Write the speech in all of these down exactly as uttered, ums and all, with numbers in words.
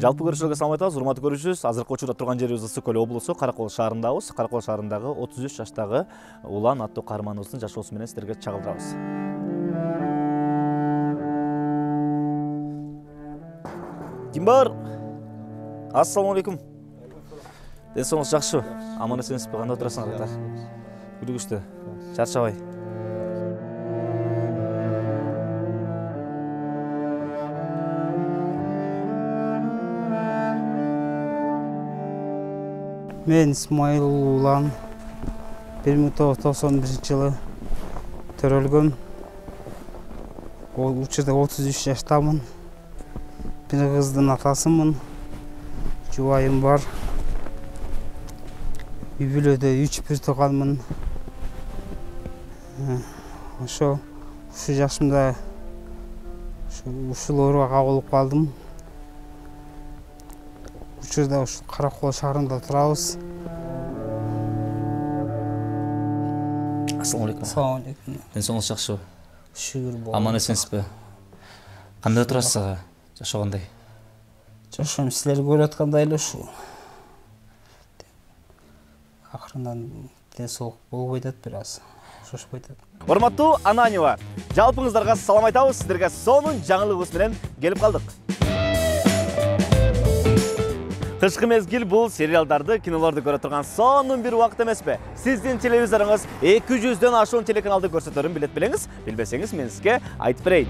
Жалпы көрүүчүлөргө салам айтабыз, урматтуу көрүүчүбүз. Азыркы учурда турган жерибиз Ысык көл облусу Каракол шаарындабыз. Каракол шаарындагы отуз үч жаштагы Улан аттуу каарманыбыздын жашоосу менен сиздерге чагылдырабыз. Ким бар? Ассаламу алейкум. Ден соңуңуз жакшыбы? Аман эсенсизби? Кандай отурасыңар? Күлүгүчтүү. Чарчабай. Мен Исмаил Улан бир миң тогуз жүз токсон биринчи жылы төрөлгөм. Ол учурда отуз үч жаштамын. Бир кыздын атасымын. Жубайым бар. Үй бүлөдө үч бир тууганмын. Ошо ушу жашымда ушул ооруга кабылып калдым. Учурда ушу Каракол шаарында турабыз. Ассаламу алейкум. Ассаламу алейкум. Ден соңуңуз жакшыбы? Шүгүр болду. Аман эсенсизби? Кандай турасыз? Жашоо кандай? Жашоом силер көрүп аткандай эле ушу. Акырындан ден соолук болбой атат бир аз. Шошпой атат. Урматтуу Ананева, жалпыңыздарга салам айтабыз. Сиздерге сонун жаңылыгыбыз менен келип калдык. Кышкы мезгил бул сериалдарды, кинолорду көрө турган сонун бир убакыт эмеспи? Сиздин телевизоруңуз эки жүздөн ашуун телеканалды көрсөтөрүн билет белеңиз. Билбесеңиз мен сизге айтып берейин.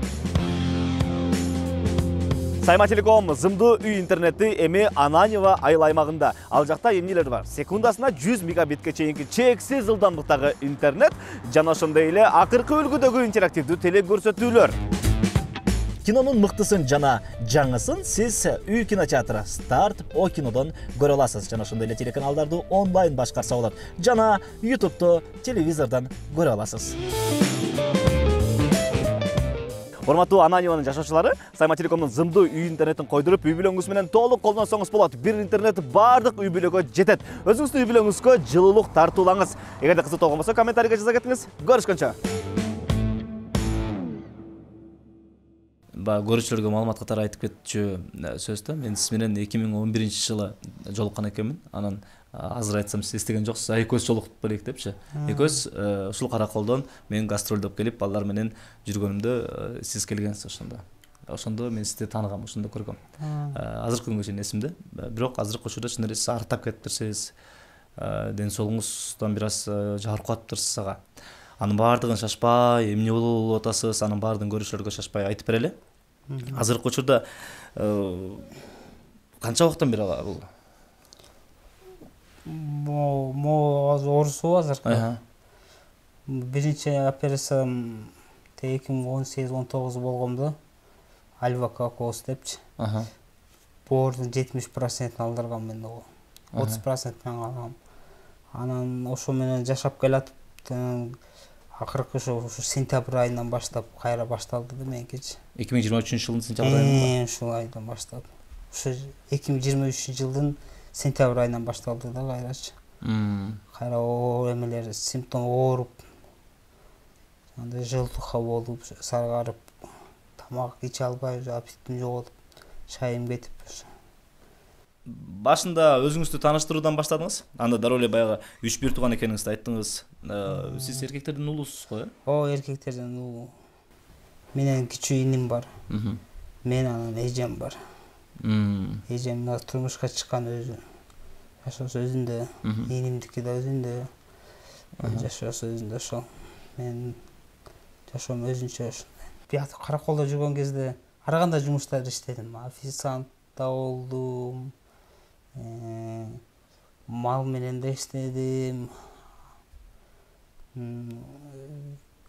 Сайма Телеком зымдуу үй интернети эми Ананева айыл аймагында. Ал жакта эмнелер бар? Секундасына жүз мегабитке чейинки чексиз ылдамдыктагы интернет жана ошондой эле акыркы үлгүдөгү интерактивдүү телекөрсөтүүлөр. Кинонун мыктысын жана жаңысын сиз үй кинотеатры Старт О кинодон көрө аласыз. Жана ошондой эле телеканалдарды онлайн башкарса болот. Жана ютубту телевизордон көрө аласыз. Урматтуу Ананеванын жашоочулары, Сайма Телекомдун зымдуу үй интернетин койдуруп, үй бүлөңүз менен толук колдонсоңуз болот. Бир интернет бардык үй бүлөгө жетет. Өзүңүздүн үй бүлөңүзгө жылуулук тартуулаңыз. Эгерде кызыктуу болгон болсо, комментарийге жаза кетиңиз. Көрүшкөнчө. Ба көрүүчүлөргө маалымат катары айтып кетчү сөздө. Мен сиз менен эки миң он биринчи жылы жолуккан экенмин. Анан азыр айтсам сиз эстеген жоксуз, экөөбүз жолугуп белек депчи. Экөөбүз ушул Караколдон мен гастролдоп келип, балдар менен жүргөнүмдө сиз келгенсиз ошондо. Ошондо мен сизди тааныгам, ошондо көргөм. Азыркы күнгө чейин эсимде. Бирок азыркы учурда чын эле сиз артап кетиптирсиз. Ден соолугуңуздан бир аз жабыркап атыптырсыз ага. Анын баардыгын шашпай, эмне болуп атасыз, анын баардыгын көрүүчүлөргө шашпай айтып берели. Азыркы учурда канча убакыттан бери бул? Мо мо оорусу азыркы. Биринчи операциям эки миң он сегиз он тогуз болгондо альвакокоз депчи. Боордун жетимиш процентин алдыргам мен ого. отуз процентин алгам. Анан ошо менен жашап келатып, акыркы ошо сентябрь айынан баштап кайра башталды да меникичи. эки миң жыйырма үчүнчү жылдын сентябрь айынан. Ушул айдан баштап. Ошо эки миң жыйырма үчүнчү жылдын сентябрь айынан башталды да кайрачы. Кайра оор эмелер, симптом ооруп, андай жылтука болуп, саргарып, тамак иче албай, аппетитим жоготуп, шайым кетип. Башында өзүңүздү тааныштыруудан баштадыңыз. Анда дароо эле баягы үч бир тууган экениңизди айттыңыз. Сиз эркектердин уулусуз го, э? О, эркектердин уулу. Менен кичүү иним бар. Мен анан эжем бар. Эжем турмушка чыккан өзү. Жашоосу өзүндө, инимдики да өзүндө. Жашоосу өзүндө ошол. Мен жашоом өзүнчө ушундай. Бият Караколдо жүргөн кезде ар кандай жумуштарды иштедим. Официант да болдум. Мал менен да иштедим.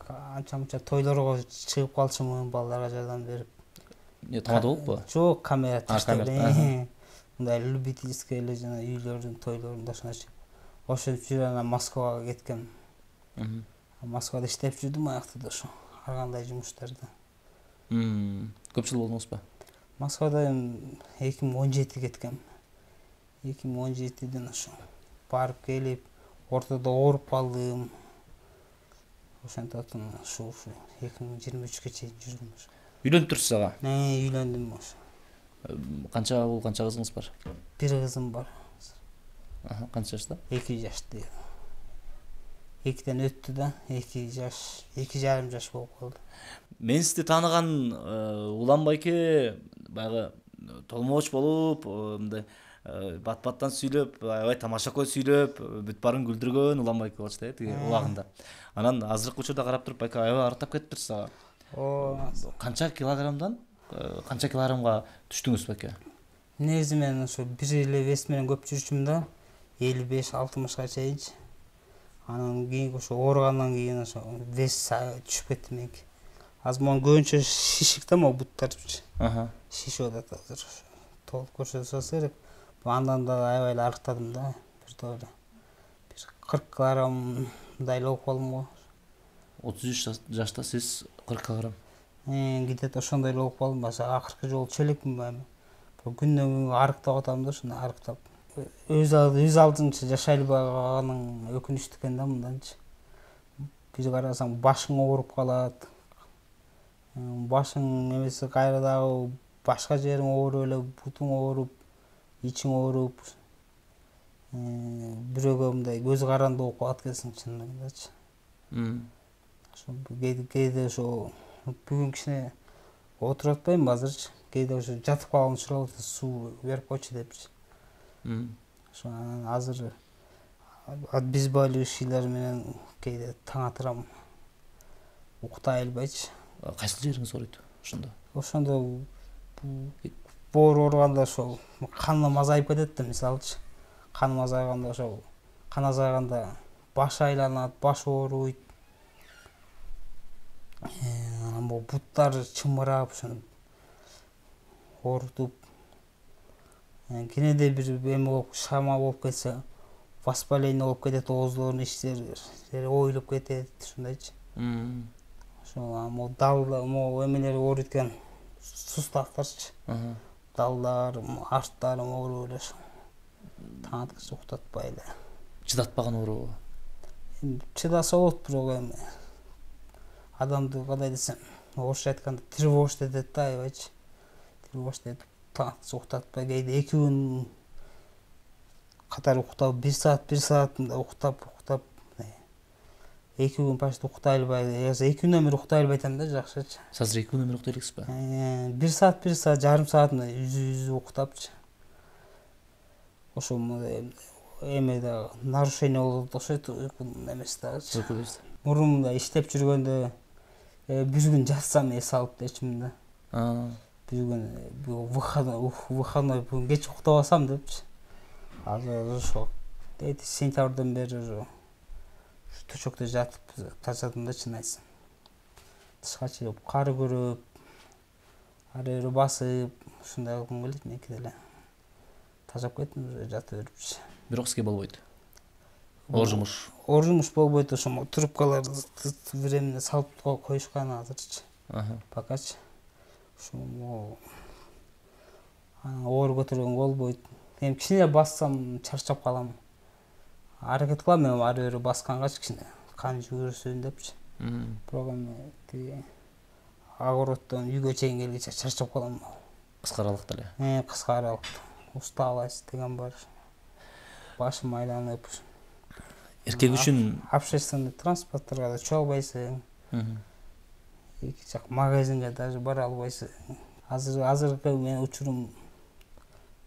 Анча-мынча тойлорго чыгып калчумун, балдарга жардам берип. Не, тамада болуппу? Жок, камера таштап. Мындай любительский эле жана үйлөрдүн тойлорунда ошондой. Ошентип жүрүп анан Москвага кеткем. Москвада иштеп жүрдүм аякта да ошо. Ар кандай жумуштарды. Көп жыл болдуңузбу? Москвада эки миң он жети кеткем. эки миң он жетиден ошо барып келип, ортодо ооруп калдым. Ошентип ушу эки миң жыйырма үчкө чейин жүрдүм ошо. Үйлөнүп турсуз ага? Үйлөндүм ошо. Канча уул, канча кызыңыз бар? Бир кызым бар. Канча жашта? эки жашта. Экиден өттү да, эки жаш, эки жарым жаш болуп калды. Мен сизди тааныган Улан байке баягы толмооч болуп, мындай бат-баттан сүйлөп, аябай тамашакой сүйлөп, бүт барын күлдүргөн Улан байке болчу да, тиги улагында. Анан азыркы учурда карап туруп байке аябай арыктап кетиптир сага. О, канча килограммдан канча килограммга түштүңүз байке? Негизи мен ошо бир эле вес менен көп жүрчүмүн да, элүү беш алтымышка чейинчи. Анан кийин ошо ооругандан кийин ошо вес түшүп кетти меники. Азыр могу көбүнчө шишик да, могу буттарчы. Аха. Шишип атат азыр. Толук көрсөтсө керек. Андан да аябай эле арыктадым да. Бир тоодо. Бир кырк килограммдай эле болуп калдым го. отуз үч жашта сиз кырк килограмм. Э, где-то ошондой эле болуп калдым. Башка акыркы жолу чөлекмин эми. Күндөн күнгө арыктап атам да, ошондой арыктап. Өз өз алдынча жашай албаганың өкүнүчтүү экен да мынданчы. Бир карасаң башың ооруп калат. Башың эмеси кайра дагы башка жериң ооруп эле, бутуң ооруп, ичиң ооруп. Бирөөгө мындай көз каранды болуп калат экенсиң чынындагычы. Ошо кээде ошо бүгүн кичине отуруп атпайм азырчы. Кээде ошо жатып калган учур болот, суу берип койчу депчи. Ошо азыр обезболивающийлер менен кээде таң атырам. Уктай албайчы. Кайсы жериңиз ооруйт ошондо? Ошондо боор ооруганда ошо каным азайып кетет да, мисалычы. Каным азайганда ошо кан азайганда баш айланат, баш ооруйт. Анан бу буттар чымырап, ошону оорутуп. Кенеде бир эме болуп, шама болуп кетсе, воспаление болуп кетет, ооздордун иштери оюлуп кетет, ушундайчы. Ошо могу далда, могу эмелер ооруйт экен, суставтарчы. Далдар, арттар ооруп эле ошо. Таң аткыча уктатпай эле. Чыдатпаган оорубу? Чыдаса болот, бирок эми адамды кандай десем, орусча айтканда тревожить этет да, аябайчы. Тревожить этип, таң аткыча уктатпай, кээде эки күн катар уктап, бир саат, бир саат мындай уктап, уктап, эки күн почти уктай албай, эки күндөн бери уктай албайтам да, жакшычы. Азыр эки күндөн бери уктай элексизби? бир саат, бир саат, жарым саат мындай үзү-үзү уктапчы. Ошо эме да нарушение болот окшойт, уйкунун эмеси дагычы. Мурун мындай иштеп жүргөндө бир күн жатсам эс алып дечимин да. Бир күн выходной, выходной бүгүн кеч уктабасам депчи. Азыр ошо сентябрдан бери ошо төшөктө жатып тажадым да, чын айтсам. Тышка чыгып, кар көрүп, ары бери басып, ушундай кылгым келет меники деле. Тажап кеттим уже жатып өрүпчү. Бирок сизге болбойт. Оор жумуш. Оор жумуш болбойт, ошо трубкаларды бир эмне салып коюшкан азырчы. Покачы. Ошо анан оор көтөргөнгө болбойт. Эми кичине бассам чарчап калам. Аракет кылам эми ары бери баскангачы кичине кан жүгүрсүн депчи. Бирок эми тиги огороддон үйгө чейин келгенче чарчап калам. Кыска аралыкта эле. Э, кыска аралыкта. Усталость деген бар. Башым айланып. Эркек үчүн общественный транспортторго да чыга албайсың. Эки жак магазинге даже бара албайсың. Азыр азыркы мен учурум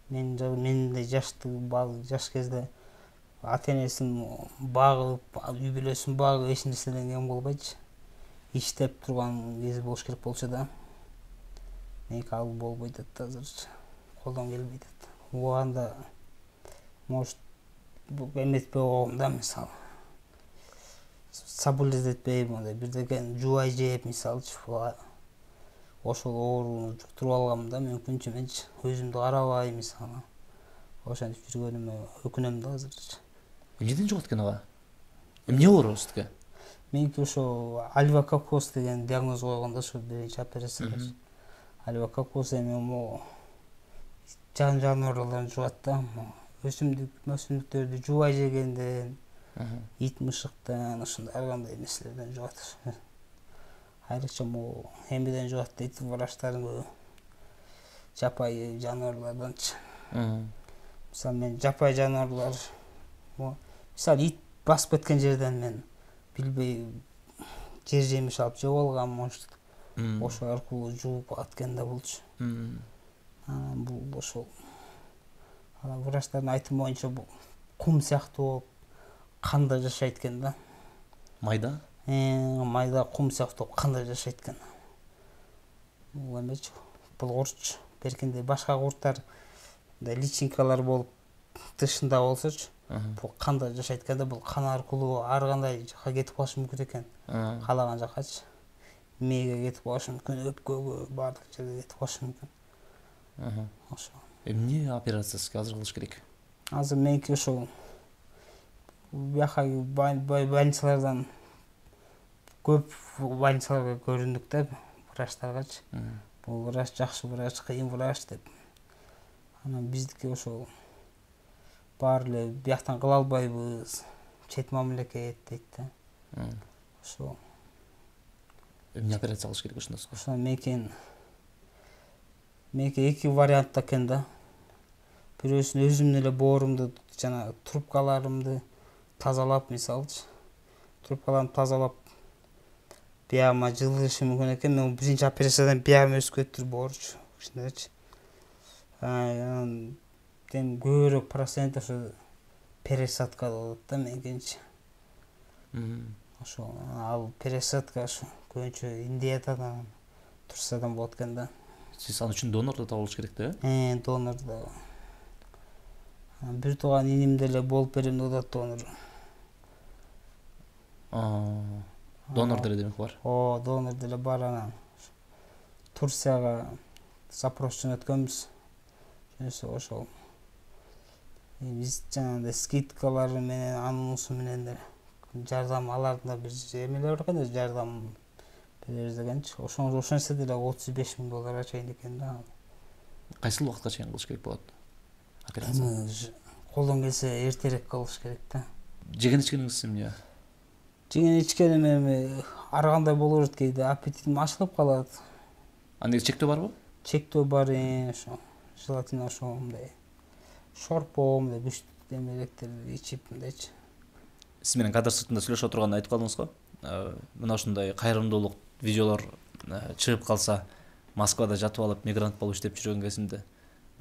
мен мендей жаштуу жаш кезде ата-энесин багып, үй бүлөсүн багып, эч нерседен кем болбойчу. Иштеп турган кези болуш керек болчу да. Меники ал болбойт да азырчы. Колдон келбейт да. Убагында может эметпей койгом да, мисалы. Соблюдетпей, мындай бирдекен жубай жеп, мисалычы, ошол ооруну жуктуруп алгам да, мүмкүнчө менчи өзүмдү карабай, мисалы. Ошентип жүргөнүмө өкүнөм да азырчы. Эмнеден жугат экен ага? Эмне оору сизге? Меники ошо альвококоз деген диагноз койгон да, ошо биринчи операциялар. Альвококоз эми могу жан жаныбарлардан жугат да. Өсүмдүк, өсүмдүктөрдү жубай жегенден, ит мышыктан, ошондой ар кандай нерселерден жугат. Айрыкча могу эмеден жугат дейт, врачтардын көбү. жапайы жаныбарларданчы. Мисалы мен жапайы жаныбарлар, мисалы ит басып кеткен жерден мен билбей жер жемиш алып жеп алгам, может, ошо аркылуу жууп аткен да болчу. Анан бул ошол врачтардын айтымы боюнча бул кум сыяктуу болуп канда жашайт экен да. Майда? Э, майда кум сыяктуу канда жашайт экен. Бул эмечи, бул куртчу. Беркинде башка курттар мындай личинкалар болуп тышында болсочу, бул канда жашайт экен да, бул кан аркылуу ар кандай жака кетип калышы мүмкүн экен. Каалаган жакачы. Мээге кетип калышы мүмкүн, өпкөгө, баардык жерге кетип калышы мүмкүн. Ошо. Эмне операциясы азыр кылыш керек? Азыр меники ошол бияка больницалардан көп больницаларга көрүндүк да, врачтаргачы. Бул врач жакшы врач, кыйын врач деп. Анан биздики ошол баары эле бияктан кыла албайбыз, чет мамлекет дейт да. Ошо. Эмне операция кылыш керек ошондо? Ошо меники меники эки вариантта экен да. Бирөөсүн өзүмдүн эле боорумду жана трубкаларымды тазалап, мисалчы, трубкаларымды тазалап биягыма жылышы мүмкүн экен. Мен биринчи операциядан биягым өсүп кетти, боорчу, кичинекечи. Анан тем көбүрөөк процент ошо пересадка болот да меникинчи. Ошо ал пересадка ошо көбүнчө Индиядан, Турциядан болот экен да. Сиз ал үчүн донорду табылыш керек да? Э, донорду. Бир тууган иним деле болуп берем деп атат, донор. Донор деле демек бар. О, донор деле бар. Анан Турцияга запрос жөнөткөнбүз. Жөнөсө ошол биз жанагындай скидкалар менен, анунусу менен деле жардам, алардын да бир эмелери бар экен, жардам беребиз дегенчи. Ошону ошол нерсе деле отуз беш миң долларга чейин экен да. Кайсыл убакытка чейин кылыш керек болот? Колдон келсе эртерээк кылыш керек да. Жеген ичкениңиз эмне? Жеген ичкеним эми ар кандай боло берет, кээде аппетитим ачылып калат. Анда чектөө барбы? Чектөө бар, ошо. Желательно ошо мындай шорпо, мындай күчтүү эмелектерди ичип мындайчы. Сиз менен кадр сыртында сүйлөшүп отурганда айтып калдыңыз го. Мына ушундай кайрымдуулук видеолор чыгып калса, Москвада жатып алып мигрант болуп иштеп жүргөн кезимде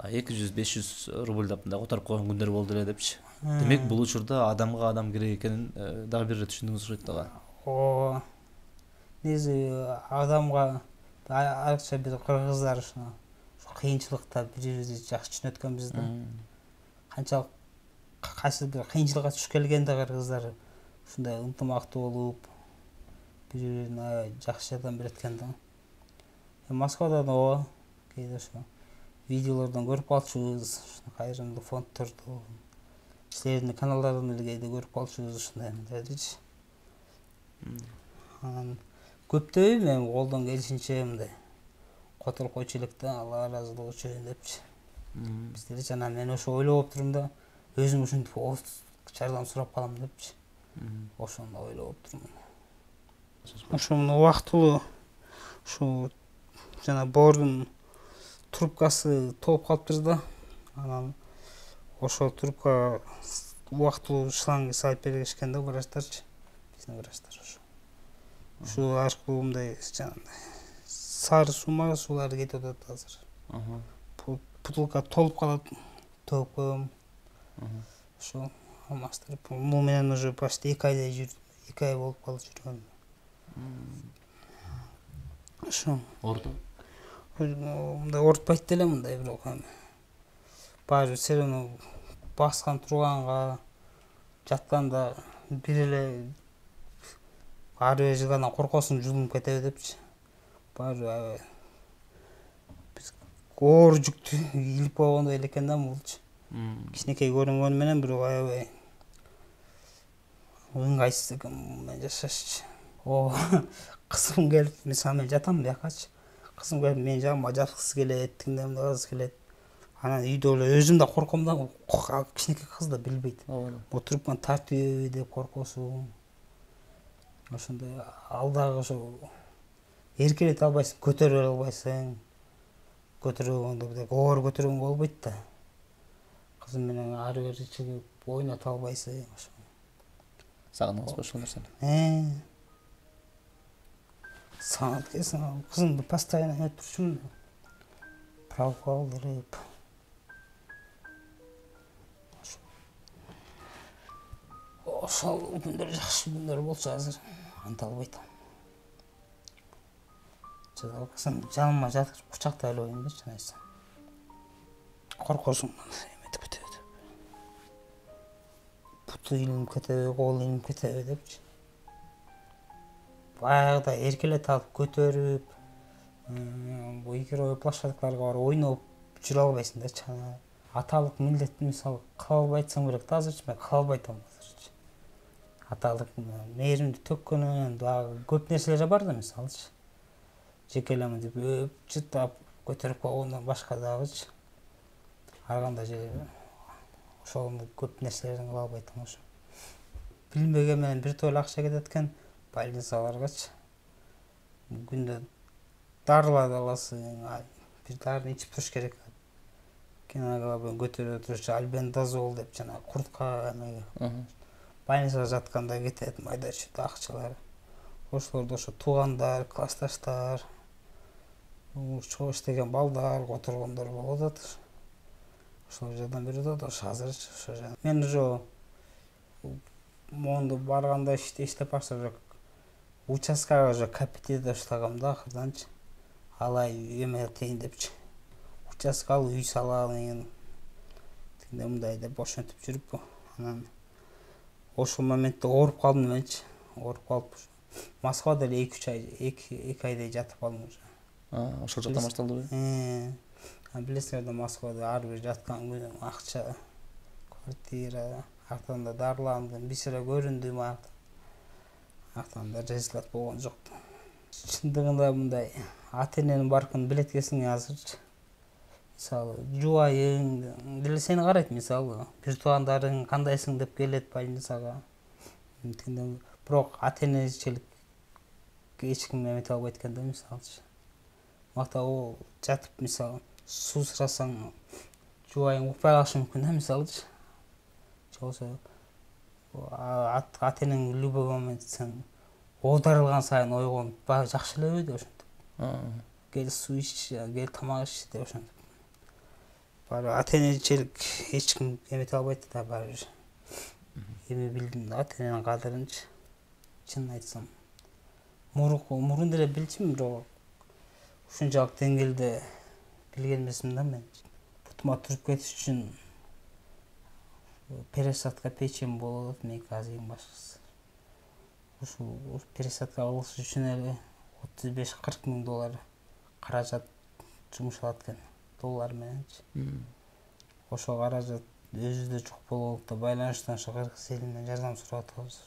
эки жүз беш жүз рубльдап мындай которуп койгон күндөр болду эле депчи. Демек бул учурда адамга адам керек экенин дагы бир ирет түшүндүңүз окшойт дагы. О, негизи адамга айрыкча бир кыргыздар ушуна кыйынчылыкта бири-бирибизди жакшы түшүнөткөнбүз да. Канчалык кайсы бир кыйынчылыкка түшүп келген да кыргыздар ушундай ынтымактуу болуп, бири-бирине жакшы жардам берет экен да. Москвадан ооба, кээде ошо видеолордон көрүп калчубуз, ушуну кайрымдуу фонддорду, силердин каналдарын эле кээде көрүп калчубуз, ушундай мындайчы. Анан көптөйм эми колдон келишинче мындай которуп койчу элек да, Алла ыраазылыгы үчүн депчи. Биз деле жана мен ошо ойлоп турум да, өзүм ушинтип жардам сурап калам депчи. Ошону ойлоп турмун. Ошо убактылуу ушу жана боордун трубкасы толуп калыптыр да. Анан ошол трубкага убактылуу шланг салып бергишкен да врачтарчы. Биздин врачтар ошо. Ушу аркылуу мындай жанагындай сары суу, мара суулары кетип атат азыр. Бутылка толуп калат, төгүп коем. Ошо алмаштырып, муну менен уже почти эки айдай жүрдүм, эки ай болуп калды жүргөнүм. Ошо. Орду? Мындай ортпайт деле мындай бирок эми баары бир все равно баскан турганга, жатканда бир эле ар бир жылгандан коркосуң, жулунуп кетеби депчи. Баары аябай биз оор жүктү илип койгондой эле экен да булчу. Кичинекей көрүнгөнү менен бирок аябай ыңгайсыз экен менен жашашчы. О, кызым келип, мисалы мен жатам биякачы. Кызым келип менин жагыма жаткысы келет, тиңдемди кылгысы келет. Анан үйдө эле өзүм да корком да, кичинекей кыз да билбейт. Отуруп кан тартып деп коркосуң. Ошондой ал дагы ошо эркелете албайсың, көтөрө албайсың. көтөргөндө бирдек оор көтөргөнгө болбойт да. Кызым менен ары бери чыгып ойното албайсың. Ошо. Сагындыңызбы ошол нерсени? Э. Сагынып келсең, кызымды постоянно өтүп турчумун. Талып калдырып. Ошол күндөр жакшы күндөр болчу, азыр анта албайт. Кызым жаныма жатып кучактай эле коеюн депчи айтсам. Коркосуң эметип кетеби деп. Буту илинип кетеби, колу илинип кетеби депчи. Баягыда эркелете алып көтөрүп, бу игровой площадкаларга барып ойноп жүрө албайсың да. Аталык милдетти мисалы кыла албайсың керек да, азырчы мен кыла албайтам азырчы. Аталык мээримди төккөнүн дагы көп нерселер бар да, мисалычы. Жекелемин деп өп, жытап, көтөрүп койгондон башка дагычы. Ар кандай же ошондой көп нерселерин кыла албайтам ошо. Билбеген менен бир топ эле акча кетет экен больницаларгачы. Күндө дарыларды аласың, бир дарыны ичип туруш керек. Гемоглобин көтөрүп турчу альбендазол деп жана куртка эме. Больницага жатканда кетет майда чүйдө акчалар. Ошолорду ошо туугандар, классташтар, чогуу иштеген балдар, которгондор болуп атат. Ошол жардам берип атат. Ошо азырчы ошо. Мен уже монду барганда иштеп баштап уже участкага уже капитет баштагам да акырданчы. Алай эме этейин депчи. Участка алып үй салайын. Тигиндей мындай деп ошентип жүрүп, анан ошол моментте ооруп калдым менчи. Ооруп калып Москвада эле эки үч ай, эки айдай жатып калдым уже. А, ошол жакта башталдыбы? Э. Билесиңер да, Москвада ар бир жаткан күнүм акча, квартира, артан да дарыландым, бир сыра көрүндүм, артан да результат болгон жок. Чындыгында мындай ата-эненин баркын билет экенсиң азырчы. Мисалы, жубайың деле сени карайт, мисалы, бир туугандарың кандайсың деп келет больницага. Бирок ата-энечилик эч ким эмете албайт экен да, мисалычы. Макта о жатып, мисалы, суу сурасаң, жубайың укпай калышы мүмкүн да, мисалычы. Же болбосо ата-энең любой момент сен оодарылган сайын ойгонуп, баягы жакшы элеби деп ошентип. Кел суу ич, кел тамак ич деп ошентип. Баары ата-энечилик эч ким эмете албайт да, баары бир. Эми билдим да ата-эненин кадырынчы. Чынын айтсам, мурун деле билчүмүн, бирок ушунчалык деңгээлде билген эмесмин да мен. Бутума туруп кетиш үчүн пересадка печень болуп атат меники азыр эң башкысы. Ушул пересадка кылыш үчүн эле отуз беш кырк миң доллар каражат жумшалат экен, доллар мененчи. Ошол каражат өзүбүздө жок болуп, байланыштан ошо кыргыз элинен жардам сурап атабыз.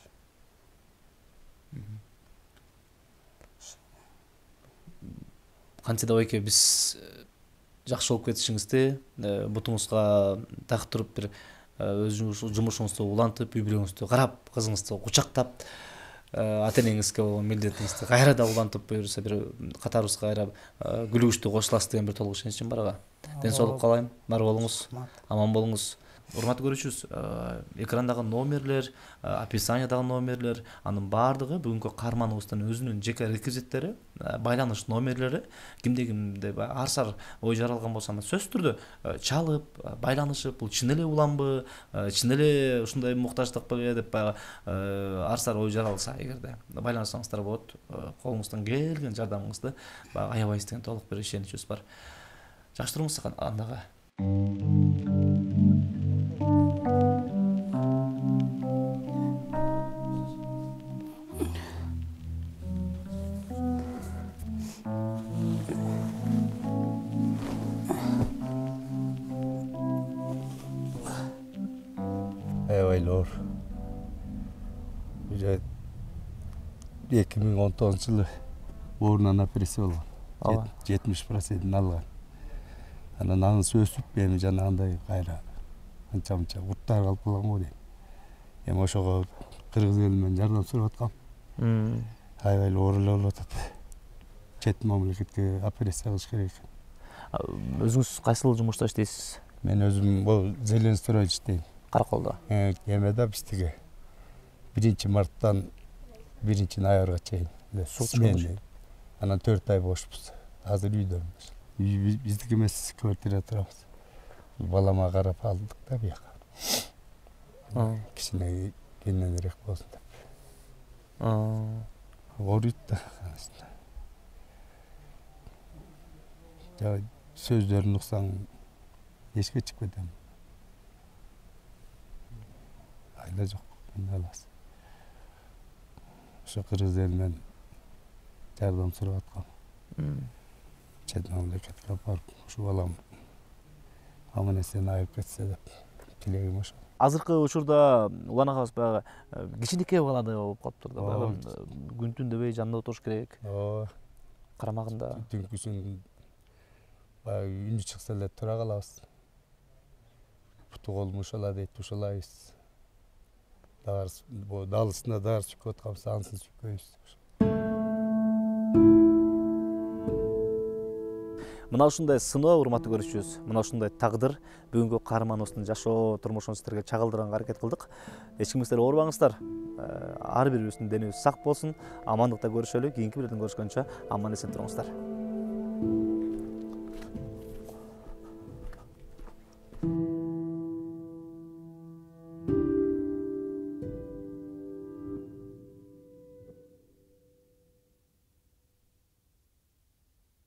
Кантсе да байке биз жакшы болуп кетишиңизди, бутуңузга такып туруп бир өзүңүз жумушуңузду улантып, үй бүлөңүздү карап, кызыңызды кучактап, ата-энеңизге болгон милдетиңизди кайра да улантып, буюрса бир катарыбызга кайра күлүгүчтүү кошуласыз деген бир толук ишеничим барга. Ден соолук каалайм, бар болуңуз, аман болуңуз. Урматтуу көрүүчүбүз, экрандагы номерлер, описаниядагы номерлер, анын баардыгы бүгүнкү каарманыбыздын өзүнүн жеке реквизиттери, байланыш номерлери, кимде кимде ар сар ой жаралган болсо, сөзсүз түрдө чалып, байланышып, бул чын эле уланбы, чын эле ушундай муктаждыкпы деп баягы ар сар ой жаралса, эгерде байланышсаңыздар болот, колуңуздан келген жардамыңызды аябайсыз деген толук бир ишеничибиз бар. Жакшы туруңуз андагы. Аябайлар. эки миң он тогузунчу жылы оорунан операция болгон. жетимиш процентин алган. Анан анысы өсүп, эми жанагындай кайра анча-мынча урттар калып калган го дейм. Эми ошого кыргыз элинен жардам сурап аткам. Аябай оор эле болуп атат. Чет мамлекетке операция кылыш керек экен. Өзүңүз кайсыл жумушта иштейсиз? Мен өзүм бул Зеленстрой иштейм. Караколдо. Эмеде биздиги биринчи марттан биринчи ноябрга чейин сменный. Анан төрт ай бошпуз. Азыр үйдөмүз. Биздики эмес, квартирада турабыз. Балама карап алдык да бияка. Кичине кененирээк болсун деп. Ооруйт да. Жа сөздөрүн уксаң эшикке чыгып кетем. Айла жок, эмне кыласыз? Ошо кыргыз элинен жардам сурап аткам. Чет мамлекетке барып, ушу балам аман эсен айып кетсе деп тилегим ошо. Азыркы учурда Улан агабыз баягы кичинекей баладай болуп калыптыр да. Баягы күн түн дебей жанында отуруш керек. Ооба. Карамагында. Түнкүсүн баягы үнү чыкса эле тура калабыз. Буту колум ушала дейт, ушалайбыз. Дарс, бу далысында дарс чүкүп атканбыз, ансыз чүкпөйбүз. Мына ушундай сыноо, урматтуу көрүүчүбүз, мына ушундай тагдыр бүгүнкү каарманыбыздын жашоо турмушун сиздерге чагылдырганга аракет кылдык. Эч кимге силер оорубаңыздар. Ар бирибиздин денебиз сак болсун, амандыкта көрүшөлү. Кийинки бирден көрүшкөнчө аман эсен туруңуздар.